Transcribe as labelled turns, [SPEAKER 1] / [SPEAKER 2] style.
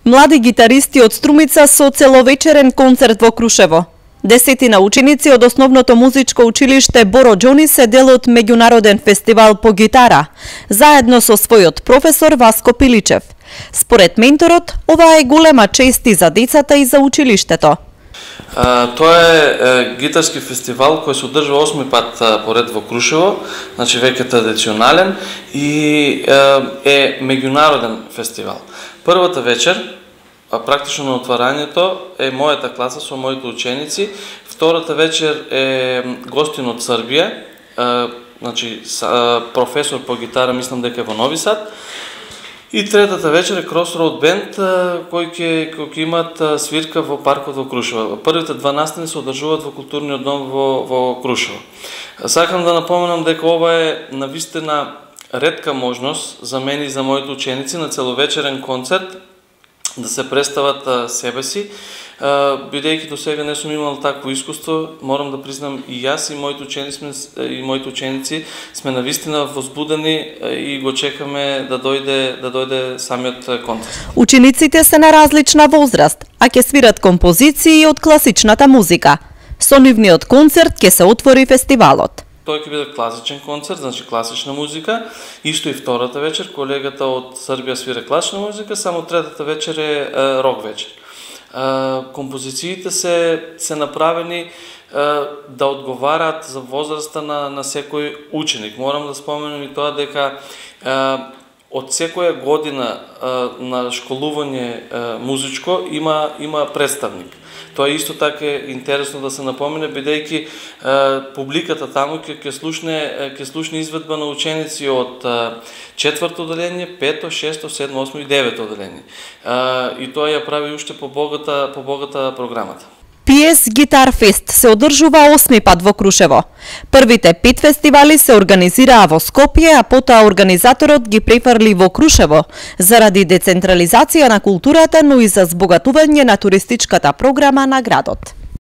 [SPEAKER 1] Млади гитаристи од Струмица со целовечерен концерт во Крушево. Десетина ученици од Основното музичко училиште Боро Џони се дел од меѓународен фестивал по гитара, заедно со својот професор Васко Пиличев. Според менторот, ова е голема чест и за децата и за училиштето.
[SPEAKER 2] Тоа е гитарски фестивал кој се одржува 8 пат поред во Крушево, значи веќе традиционален и е меѓународен фестивал. Првата вечер, практично на отварањето, е мојата класа со моите ученици. Втората вечер е гостин од Србија, значи професор по гитара, мислам дека е во Нови Сад. И третата вечер е Crossroad Band, кои ќе имат свирка во паркот во Крушево. Првите два настани се одржуваат во културниот дом во Крушево. Сакам да напоменам дека ова е навистина ретка можност за мене и за моите ученици на целовечерен концерт да се представат себе си. Бидејќи до сега не сум имал такво искуство, морам да признам и јас и моите ученици сме навистина возбудени и го чекаме да дојде самиот концерт.
[SPEAKER 1] Учениците се на различна возраст, а ќе свират композиции од класичната музика. Со нивниот концерт ќе се отвори фестивалот.
[SPEAKER 2] Тој ќе биде класичен концерт, значи класична музика. Исто и втората вечер, колегата од Србија свира класична музика, само третата вечер е рок вечер. Композициите се направени да одговараат за возраста на секој ученик. Морам да споменам и тоа дека од секоја година на школување музичко има представник. Тоа исто така е интересно да се напомене, бидејќи публиката таму ќе слушне изведба на ученици од 4-то оделение, 5-то, 6-то, 7-то, 8-то и 9-то оделение. И тоа ја прави уште побогата програмата.
[SPEAKER 1] PS Guitar Fest се одржува 8 пат во Крушево. Првите 5 фестивали се организираа во Скопје, а потоа организаторот ги префрли во Крушево заради децентрализација на културата, но и за збогатување на туристичката програма на градот.